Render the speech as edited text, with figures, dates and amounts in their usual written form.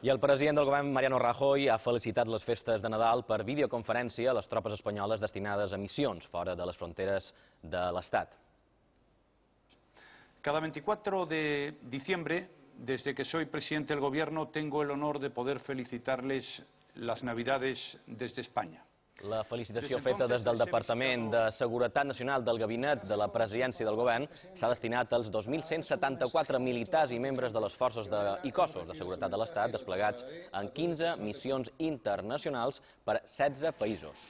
I el president del govern, Mariano Rajoy, ha felicitat les festes de Nadal per videoconferència a les tropes espanyoles destinades a missions fora de les fronteres de l'Estat. Cada 24 de diciembre, desde que soy presidente del Gobierno, tengo el honor de poder felicitarles las Navidades desde España. La felicitació feta des del Departament de Seguretat Nacional del Gabinet de la Presidència del Govern s'ha destinat als 2.174 militars i membres de les forces i cossos de seguretat de l'Estat desplegats en 15 missions internacionals per 16 països.